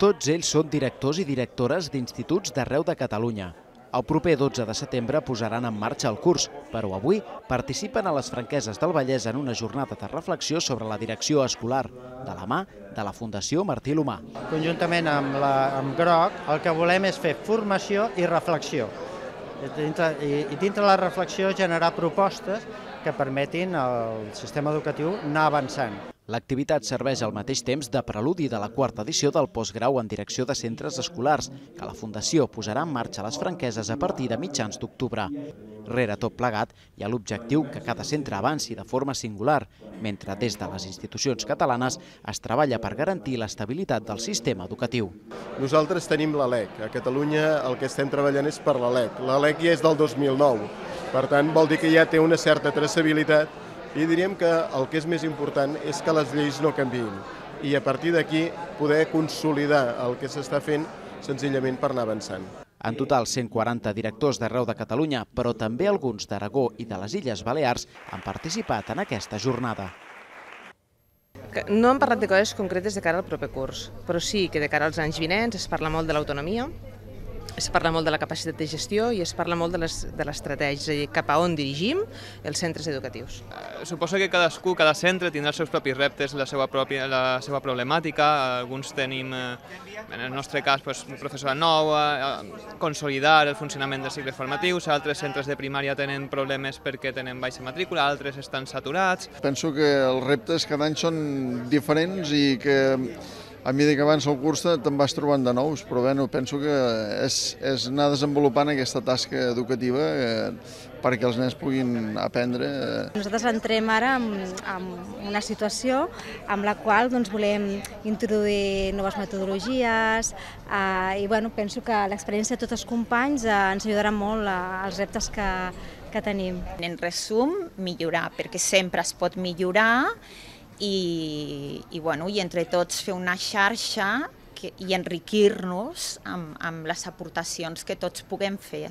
Tots ells són directors i directores d'instituts d'arreu de Catalunya. El proper 12 de setembre posaran en marxa el curs, però avui participen a les Franqueses del Vallès en una jornada de reflexió sobre la direcció escolar, de la mà de la Fundació Martí l'Humà. Conjuntament amb Groc, el que volem és fer formació i reflexió. I dintre la reflexió generar propostes que permetin al sistema educatiu anar avançant. L'activitat serveix al mateix temps de preludi de la quarta edició del postgrau en direcció de centres escolars, que la Fundació posarà en marxa a les Franqueses a partir de mitjans d'octubre. Rere tot plegat hi ha l'objectiu que cada centre avanci de forma singular, mentre des de les institucions catalanes es treballa per garantir l'estabilitat del sistema educatiu. Nosaltres tenim la LEC. A Catalunya el que estem treballant és per la LEC. La LEC ja és del 2009, per tant vol dir que ja té una certa traçabilitat. I diríem que el que és més important és que les lleis no canviïn i a partir d'aquí poder consolidar el que s'està fent senzillament per anar avançant. En total, 140 directors d'arreu de Catalunya, però també alguns d'Aragó i de les Illes Balears han participat en aquesta jornada. No hem parlat de coses concretes de cara al proper curs, però sí que de cara als anys vinents es parla molt de l'autonomia, es parla molt de la capacitat de gestió i es parla molt de l'estratègia, és a dir, cap a on dirigim els centres educatius. Suposo que cada centre tindrà els seus propis reptes, la seva problemàtica. Alguns tenim, en el nostre cas, un professorat nou, consolidar el funcionament dels cicles formatius, altres centres de primària tenen problemes perquè tenen baixa matrícula, altres estan saturats. Penso que els reptes cada any són diferents i que a mesura que avança el curs te'n vas trobant de nous, però bé, penso que és anar desenvolupant aquesta tasca educativa perquè els nens puguin aprendre. Nosaltres entrem ara en una situació en la qual volem introduir noves metodologies i penso que l'experiència de tots els companys ens ajudarà molt als reptes que tenim. En resum, millorar, perquè sempre es pot millorar i entre tots fer una xarxa i enriquir-nos amb les aportacions que tots puguem fer.